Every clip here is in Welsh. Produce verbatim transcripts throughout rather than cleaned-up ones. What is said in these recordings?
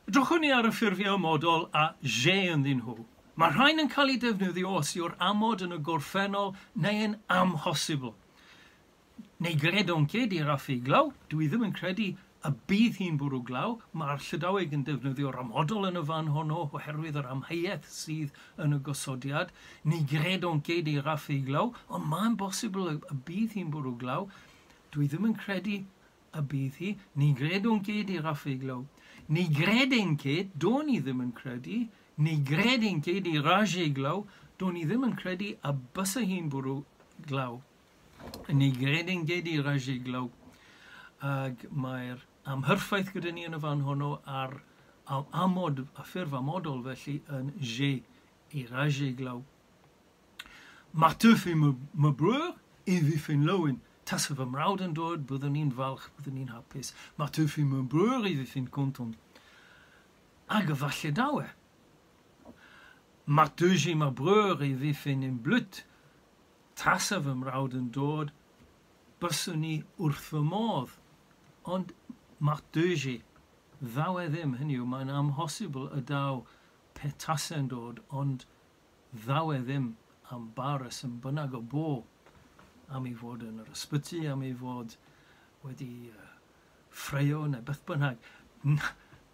Edrychwn ni ar y ffurfiau amodol a je ynddyn nhw. Mae rhain yn cael eu defnyddio os yw'r amod yn y gorffennol neu yn amhosibl. Ne gredan ket e rafe glav, dwi ddim yn credu y bydd hi'n bwrw glaw. Mae'r Llydaweg yn defnyddio'r amodol yn y fan honno oherwydd yr amheuaeth sydd yn y gosodiad. Ne gredan ket e rafe glav, ond mae'n bosibl y bydd hi'n bwrw glaw. Dwi ddim yn credu y bydd hi. Ne gredan ket e rafe glav. Ne greden ket, do'n i ddim yn credu. Ne greden ket e raje glav, do'n i ddim yn credu y bysa hi'n bwrw glaw. Ne greden ket e raje glav. Ac mae'r amhyrffaith gyda ni yn y fan honno a'r amod, y ffurf amodol felly yn je, e raje glav. Mar teufe ma breur, e vefen laouen. Tasa fy mrawd yn dod, byddwn ni'n falch, byddwn ni'n hapus. Mar teufe ma breur, e vefen kontant. Hag efallai daw e. Mar teuje ma breur, e vefen em bleud. Tasa fy mrawd yn dod, byswn ni wrth fy modd. Ond mar teuje, ddaw e ddim, hynny yw, mae'n amhosibl y daw pe tasa'n dod, ond ddaw e ddim am ba reswm bynnag o bo, am ei fod yn yr ysbyty, am ei fod wedi uh, ffraeo neu beth bynnag.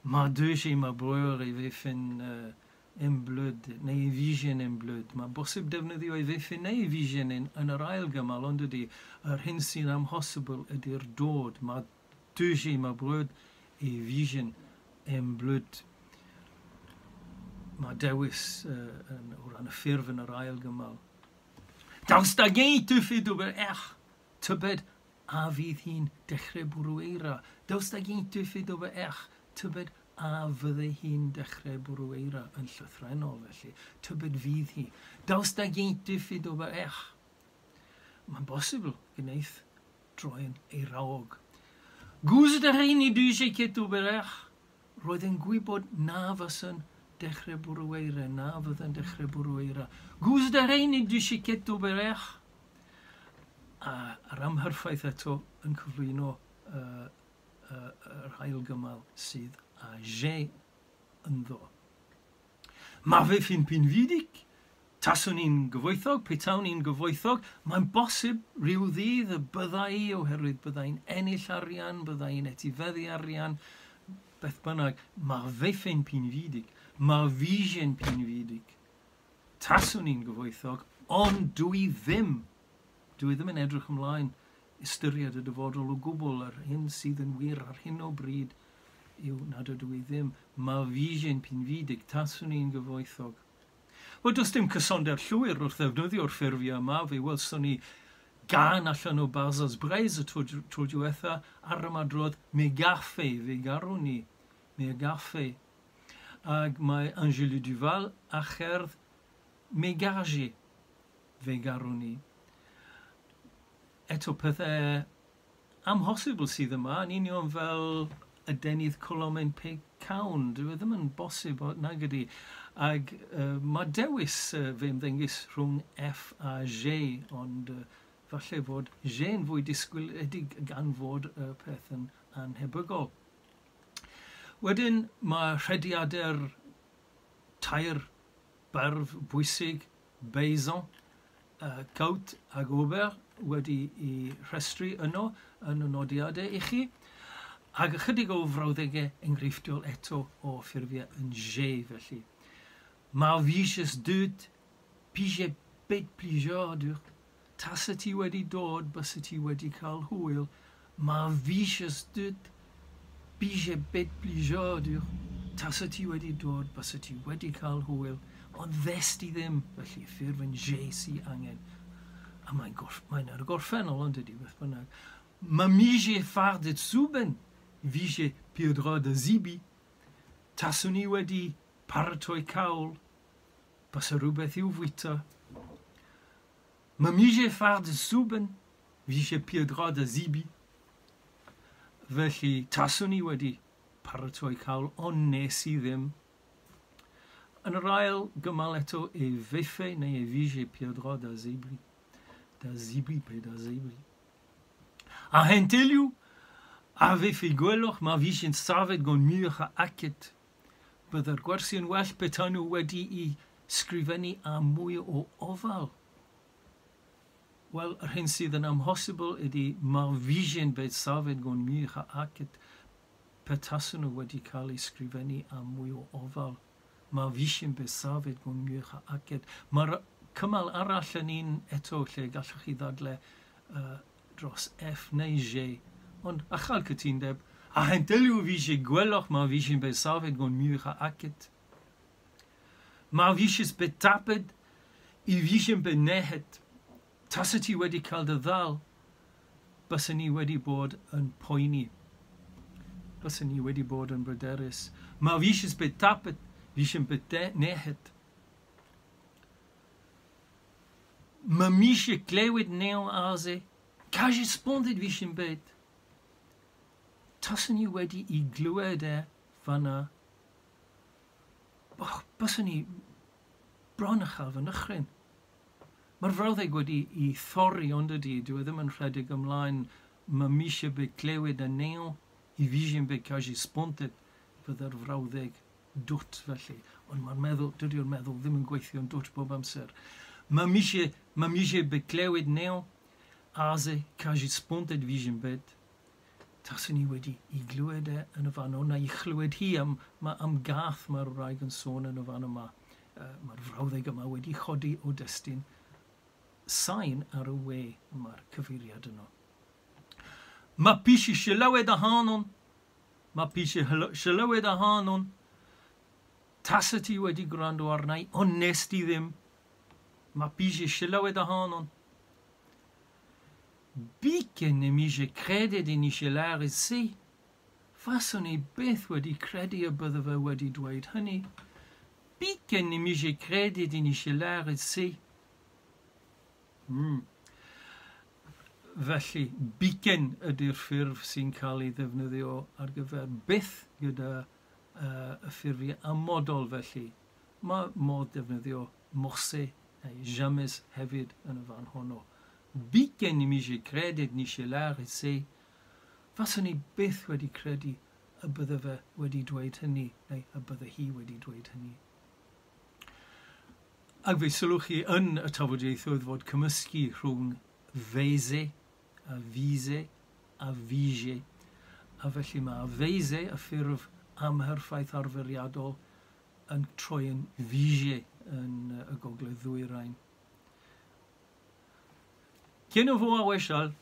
Mar deuje ma breur e vefen uh, em bleud, neu e vijen em bleud. Mae'n bosib defnyddio e vefen neu e vijen yn, yn yr ail gymal, ond ydy, yr hyn sy'n amhosibl ydy'r dod. Mar deuje ma breur e vijen em bleud. Mae dewis uh, yn, o ran y ffurf yn yr ail gymal. Daoust hag-eñ e teufe d'ober erc'h, tybed a fydd hi'n dechrau bwrw eira. Daoust hag-eñ e teufe d'ober erc'h, tybed a fydde hi'n dechrau bwrw eira yn llythrennol felly. Tybed fydd hi. Daoust hag-eñ e teufe d'ober erc'h. Mae'n bosibl gwneud droi'n eiraog. Gouzout a rin ne dije ket ober erc'h. Roedd yn gwybod na fysa'n dechrau bwrw eira, na fydda'n dechrau bwrw eira. Gouzout a rin ne dije ket ober erc'h. A yr amhyrffaith eto yn cyflwyno uh, uh, yr ail gymal sydd a je ynddo. Ma vefen pinvidik, taswn i'n gyfoethog, petawn i'n gyfoethog, mae'n bosib rhyw ddydd y bydda i, oherwydd bydda i'n ennill arian, bydda i'n etifeddu arian, beth bynnag, ma vefen pinvidik, ma vijen pinvidik. Taswn i'n gyfoethog, ond dwi ddim, dwi ddim yn edrych ymlaen ystyried y dyfodol o gwbl. Yr hyn sydd yn wir ar hyn o bryd yw nad ydw i ddim. Ma vijen pinvidik, taswn i'n gyfoethog. Wel, does dim cysondeb llwyr wrth ddefnyddio'r ffurfiau yma. Fe welson ni gan allan o Barzaz Breiz y tro, tro diwetha ar ymadrodd me garfe, fe garwn ni, me garfe. Ac mae Angélu Duval a cherdd me garje, fe garwn ni. Eto pethau amhosibl sydd yma, yn union fel adenydd colomen pe cawn. Dyw e ddim yn bosib nag ydy. Ac uh, mae dewis uh, fe ymddengys rhwng F a G, ond uh, falle fod G yn fwy disgwyliedig gan fod y uh, peth yn anhebygol. Wedyn mae rhediadau'r tair barf bwysig, Beizan, uh, Caut ac Ober wedi i rhestru yno yn y nodiadau i chi. Ac ychydig o frawddegau enghreifftiol eto o ffurfiau yn G felly. Mar vijes deut, pije bet plijadur. Tasa ti wedi dod, bysa ti wedi cael hwyl. Mar vijes deut, pije bet plijadur. Tasa ti wedi dod, bysa ti wedi cael hwyl. Ond ddest ti ddim, felly ffurf yn G sy angen. A mae'n mae'n ar y gorffennol, ond ydy, beth bynnag. Ma mije fardet souben, vije peadra da zibi. Taswn i wedi paratoi cawl, bysa rhywbeth i'w fwyta. Ma mije fardet souben, vije peadra da zibi. Felly, taswn i wedi paratoi cawl, ond nes i ddim. Yn yr ail gymal eto, e vefe neu e vije peadra da zibri. Da zibri pe da zibri. A hentelioù a vefe gwelloc'h ma vijen savet gant muioc'h a aked. Byddai'r gwersi yn well petai nhw wedi'i sgrifennu â mwy o ofal. Wel, yr hyn sydd yn amhosibl ydy ma vijent bet savet gant muioc'h a aked petasen nhw wedi cael eu sgrifennu â mwy o ofal. Ma vijent bet savet gant muioc'h a aked. Mae'r cymal arall yn un eto lle gallwch chi ddadle uh, dros F neu G. Ond a chael cytundeb, a hentelioù vije gwelloc'h ma vijent bet savet gant muioc'h a aked. Ma vijes bet tapet, i vijent bet nec'het. Tasa ti wedi cael dy ddal, bysen ni wedi bod yn poeni. Bysen ni wedi bod yn bryderus. Ma vijes bet tapet, vijent bet nec'het. Ma mije klewet neon aze, kaje spondet vijent bet. Tasen ni wedi i glywed e fanna, och, bysen ni bron a chael fy nychryn. Mae'r frawddeg wedi i thorri ond ydy, dyw e ddim yn rhedeg ymlaen, ma mije bet klewet a neon, i vijent bet kaje spontet, fydde'r frawddeg dwt felly. Ond mae'r meddwl, dydy'r meddwl ddim yn gweithio'n dwt bob amser. Ma mije, ma mije bet klewet neon, aze kaje spontet vijent bet. Taswn ni wedi i glywed e yn y fan o'na, i chlywed hi am, ma, am gath mae'r wraig yn sôn yn y fan yma. Uh, mae'r frawddeg yma wedi chodi o destun sain ar y we mae'r cyfeiriad yno. Ma pisi sylwed ahanon, ma pisi sylwed ahanon, tasa ti wedi gwrando arna i, ond nes ti ddim. Ma pisi sylwed ahanon. Biken ne mije kredet i nishe lâret se. Faswn i byth wedi credu y bydde fe wedi dweud hynny. Biken ne mije kredet i nishe lâret se. Mm. Felly, biken ydy'r ffurf sy'n cael ei ddefnyddio ar gyfer byth gyda uh, y ffurfiau amodol felly. Mae modd defnyddio morse neu jamais hefyd yn y fan honno. Biken ne mije kredet nishe lâret se. Faswn i byth wedi credu y bydde fe wedi dweud hynny, neu y bydde hi wedi dweud hynny. Ac fe sylwch chi yn y tafodieithoedd fod cymysgu rhwng veze a vise a vije. A felly mae veze, y ffurf amherffaith arferiadol, yn troi yn vije yn y gogledd ddwyrain. Kenavo ar wechal.